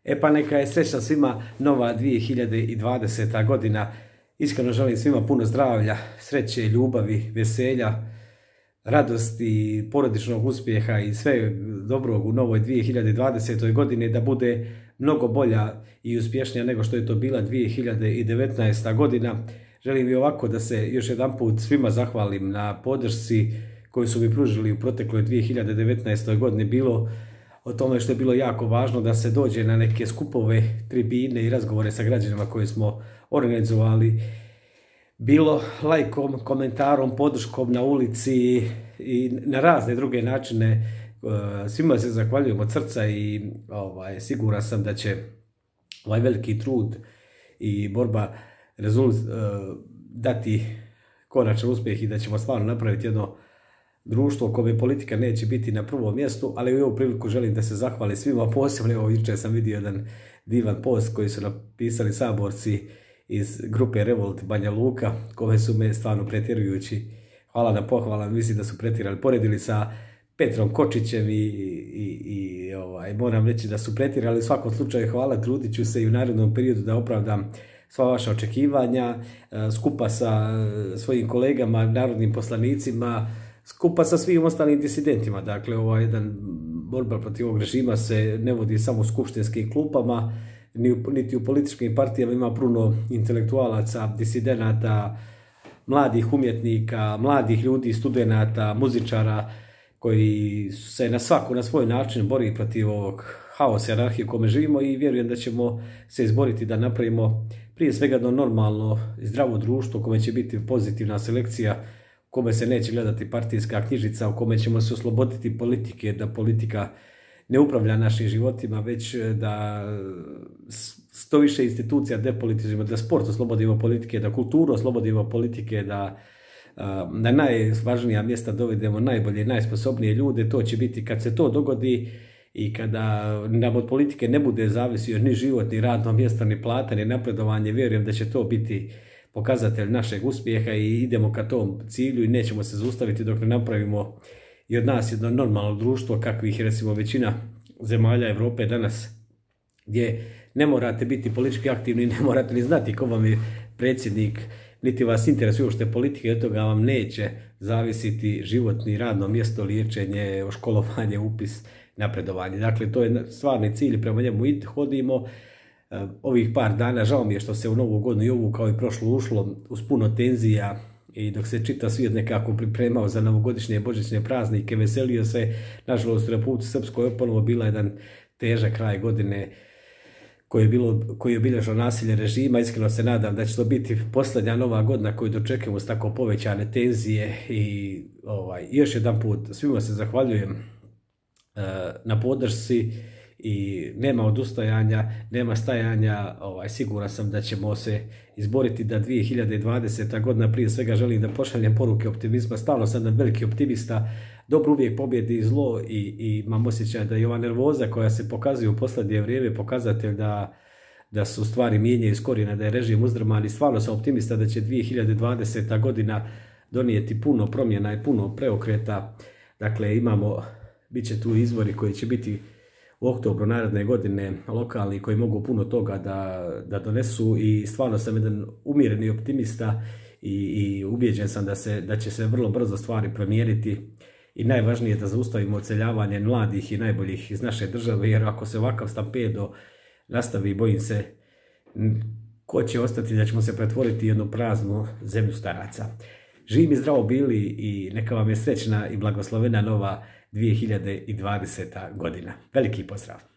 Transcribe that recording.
E pa neka je srećna svima nova 2020. godina. Iskreno želim svima puno zdravlja, sreće, ljubavi, veselja, radosti, porodičnog uspjeha i sve dobrog u novoj 2020. godini, da bude mnogo bolja i uspješnija nego što je to bila 2019. godina. Želim i ovako da se još jedan put svima zahvalim na podršci koju su mi pružili u protekloj 2019. godini, bilo o tome što je bilo jako važno da se dođe na neke skupove, tribine i razgovore sa građanima koje smo organizovali, bilo lajkom, komentarom, podrškom na ulici i na razne druge načine. Svima se zahvaljujem od srca i siguran sam da će ovaj veliki trud i borba dati konačan uspjeh i da ćemo stvarno napraviti jedno društvo kome politika neće biti na prvom mjestu, ali u ovu priliku želim da se zahvalim svima, posebno evo jučer sam vidio jedan divan post koji su napisali saborci iz grupe Revolt Banja Luka, kome su me stvarno pretjerujući, hvala na pohvala, mislim da su pretjerali, poredili sa Petrom Kočićem i moram reći da su pretjerali. U svakom slučaju hvala, trudit ću se i u narednom periodu da opravdam sva vaša očekivanja, skupa sa svojim kolegama, narodnim poslanicima, skupa sa svim ostalim disidentima. Dakle, jedan borba protiv ovog režima se ne vodi samo u skupštinskim klupama, niti u političkim partijama, ima puno intelektualaca, disidenata, mladih umjetnika, mladih ljudi, studenata, muzičara, koji se na svoj način bori protiv ovog haosa i anarhije u kome živimo, i vjerujem da ćemo se izboriti da napravimo prije svega jedno normalno i zdravo društvo u kome će biti pozitivna selekcija, u kome se neće gledati partijska knjižica, u kome ćemo se osloboditi politike, da politika ne upravlja našim životima, već da što više institucija depolitizujemo, da sport oslobodimo politike, da kulturu oslobodimo politike, da na najvažnija mjesta dovedemo najbolje i najsposobnije ljude. To će biti kad se to dogodi i kada nam od politike ne bude zavisio ni život, ni radno mjesto, ni plata, ni napredovanje. Vjerujem da će to biti pokazatelj našeg uspjeha i idemo ka tom cilju i nećemo se zaustaviti dok ne napravimo i od nas jedno normalno društvo kakvih je recimo većina zemalja Europe danas, gdje ne morate biti politički aktivni, ne morate ni znati ko vam je predsjednik, niti vas interesuje uopšte politike, od toga vam neće zavisiti život ni radno mjesto, liječenje, školovanje, upis, napredovanje. Dakle, to je stvarni cilj, prema njemu hodimo. Ovih par dana, žao mi je što se u novu godinu i ovu kao i prošlu ušlo uz puno tenzija, i dok se čitav svijet nekako pripremao za novogodišnje i božićne praznike, veselio se. Nažalost, u Republici Srpskoj ponovo bila jedan težak kraj godine koji je obilježio nasilje režima. Iskreno se nadam da će to biti posljednja nova godina koju dočekujemo s tako povećane tenzije i još jedan put svima se zahvaljujem na podršci i nema odustajanja, nema stajanja. Siguran sam da ćemo se izboriti da 2020. godina, prije svega želim da pošaljem poruke optimizma, stalno sam jedan veliki optimista, dobro uvijek pobjedi zlo i imam osjećaj da je ova nervoza koja se pokazuje u posljednje vrijeme pokazatelj da su stvari mijenjaju iz korijena, da je režim uzdrman, i stvarno sam optimista da će 2020. godina donijeti puno promjena i puno preokreta. Dakle, bit će tu izbori koji će biti u oktobru naredne godine, lokalni, koji mogu puno toga da donesu, i stvarno sam jedan umjereni optimista i ubijeđen sam da će se vrlo brzo stvari promijeniti, i najvažnije je da zaustavimo odseljavanje mladih i najboljih iz naše države, jer ako se ovakav stampedo nastavi, bojim se ko će ostati, da ćemo se pretvoriti u jednu praznu zemlju staraca. Živi i zdravo bili i neka vam je srećna i blagoslovena nova 2020. godina. Veliki pozdrav!